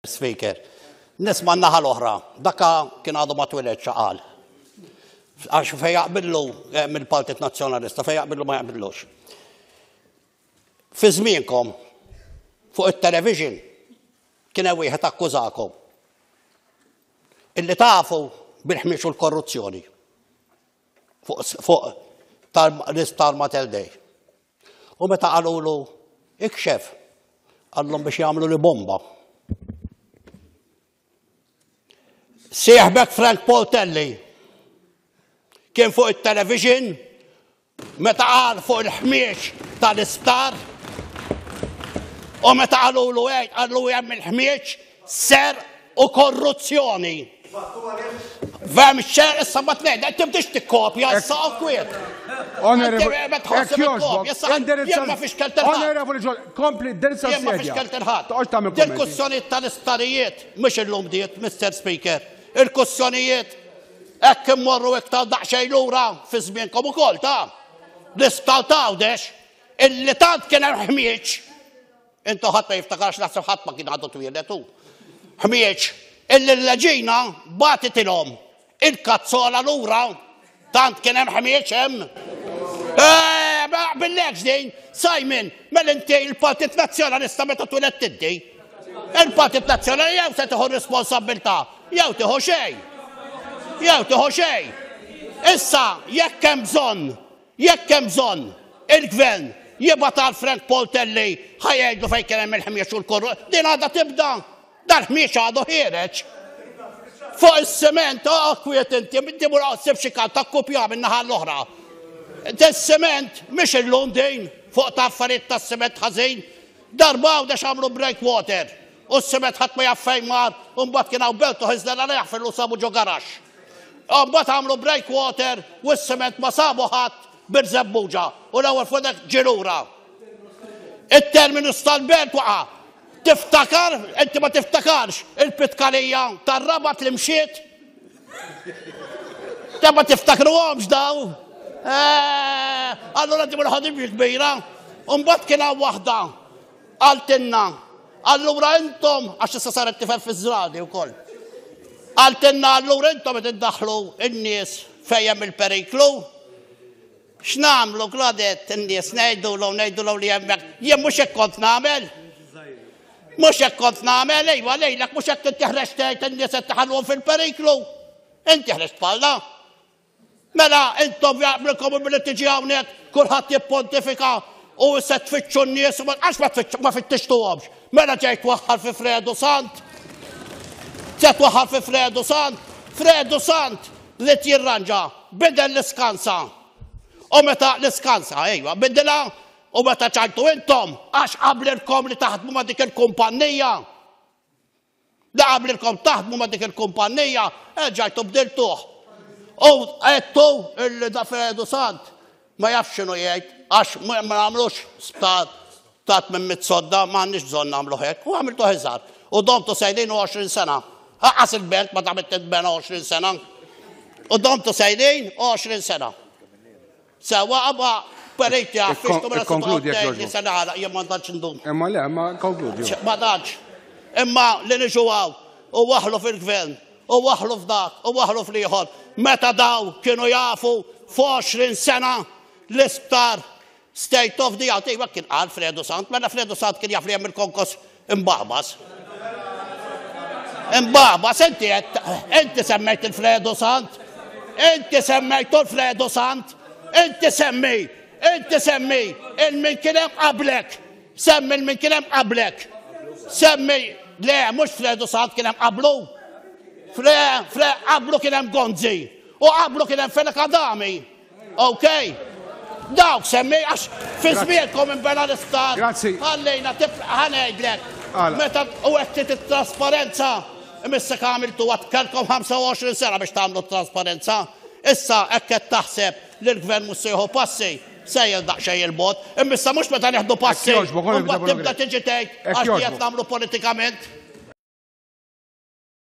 Speaker. Nisma' n-naħa l-oħra, daka kien għadu ma twiledx qal. Għax fejn jaqbillu eh, mill-Partit Nazzjonalista, fejn jaqbillu ma jaqbillux. Fi żmienkom fuq it-television kien hemm wieħed akkużakom illi tafu bil-ħmiex u l-korruzzjoni fuq tal-isptar Mater Dei. U meta qalulu ikxef, qallhom biex jagħmlu li bomba. Sieħbek Frank Poltelli kien fuq it-television meta qal fuq il-ħmiex tal-isptar u meta qalulu hekk qallu hemm il-ħmiex Serq u korruzzjoni. Vem xer issa ma tnejn, tibdix tikkopja issa u kwiet. Onorevoli Ġol, kompli indirizza s Ma fiex kellt il-ħadd. Il-kussjonijiet tal-isptarijiet mhux illum bdiet, Mr. Speaker. Il-kussjonijiet hekk immorru iktar daqsxejn lura fi żmienkom ukoll ta' l-isptar t'Għawdex illi tant kien hemm ħmieġ Intu ħadd ma jiftakarx naħseb ħadd ma kien għadu twieled hu. Ħmieġ, illi l-leġina bagħtitilhom il-kazzola lura tant kien hemm ħmieġ hemm. Eh, ma naqbillekx din, Simon, mela inti il-Partit Nazzjonalista meta twieled tiddi. Il-Partit Nazzjonali jew se tieħu responsabbiltà, jew tieħu xejn. Jew tieħu xejn. Issa, jekk hemm bżonn Jekk hemm bżonn, il-Gvern jibgħat għal Frank Poltelli ħa jgħidlu fejn kien hemm il-ħmiex u l-korru. Din għadha tibda. Dal-ħmiex għadu ħiereġ. Fuq is-siment, oh, kwiet inti, inti mur ssib xi kant akkupja minn naħa l-oħra. Is-siment mhix illum din fuq ta' affarijiet tas-siment ħażin. Darba għawdex għamlu breakwater u s-siment ħadd ma jaf fejn mar u mbagħad kien hawn Bertu Ħiżler għal jaħfirlu sabu ġo garaxx. Mbagħad għamlu breakwater u s-siment ma sabu ħadd Birżebbuġa u l-ewwel fuq dak ġie lura. It-terminus tal-belt waqa'. Tiftakar, inti ma tiftakarx, il-pitkalija tar-Rabat li mxiet? Ta' ma tiftakruhomx daw. Eh, allura di ħadim kbira. Mbagħad kien hawn waħda qaltilna, allura intom għax issa saret tifel fiż-żradi wkoll. Qaltilna allura intom qed iddaħħlu n-nies fejn hemm il-periklu. X'nagħmlu Claudette in-nies ngħidulhom ngħidulhom li hemmhekk jien mhux hekk kont nagħmel. Mhux hekk kont nagħmel, ejwa lejlek mhux hekk inti ħreġt tgħid in-nies qed tħallhom fil-periklu. Inti ħreġt bħalna. Mela intom jaqblilkom billi tiġi hawnhekk kulħadd jippontifika u se tfittxu n-nies u għax ma tfittxu ma fittixtuhomx. Mela ġej twaħħal fi Fredu Sant. Se twaħħal fi Fredu Sant. Fredu Sant li jirranġa bidel l-iskansa. U meta l-iskansa, ejwa, bidilha u meta ċajtu intom għax qablilkom li taħdmu ma' dik il-kumpannija. Li qablilkom taħdmu ma' dik il-kumpannija, erġajtu bdiltuh. U għedtu illi da Fredu Sant ma jafx x'inhu jgħid għax ma nagħmlux sptar ta' 800 sodda ma għandniex bżonn nagħmlu hekk u għamiltu iżgħar. U domtu sejrin 20 sena. Aqqas il-belt ma damet titbena 20 sena. U domtu sejrin 20 sena. Sewa qabha periti għaffixtu mela Konkludi jekk li se nagħlaq jien ma tantx ndum. Imma le, ma konkludi. Ma tantx. Imma li niġu hawn u waħlu fil-gvern u waħlu f'dak u waħlu fl-ieħor. Meta daw kienu jafu f'20 sena l-isptar State of the art, iva kien qal Fredu Sant, mela Fredu Sant kien jaf li hemm il-konkos imbagħbas. Imbagħbas, inti inti semmejt il-Fredu Sant, inti semmejtu l-Fredu Sant, inti semmi, inti semmi il-min kien hemm qablek, semmi il-min kien hemm qablek, semmi, le, mhux Fredu Sant kien hemm qablu, Fre, fre, qablu kien hemm Gonzi, u qablu kien hemm Fenech Adami. Ok? Dawk semmi, għax fi żmienkom inbena l-isptar. Grazzi. Ħallejna tifla ħanejdlek. Meta u qed it-trasparenza, imissek għamiltu għad kellkom 25 sena biex tagħmlu t-trasparenza. Issa hekk qed taħseb li l-gvern mhux se jieħu passi, sejjer daqsxejn il-bogħod. Imma issa mhux meta nieħdu passi, mbagħad tibda tiġi tgħid għax qed nagħmlu politikament.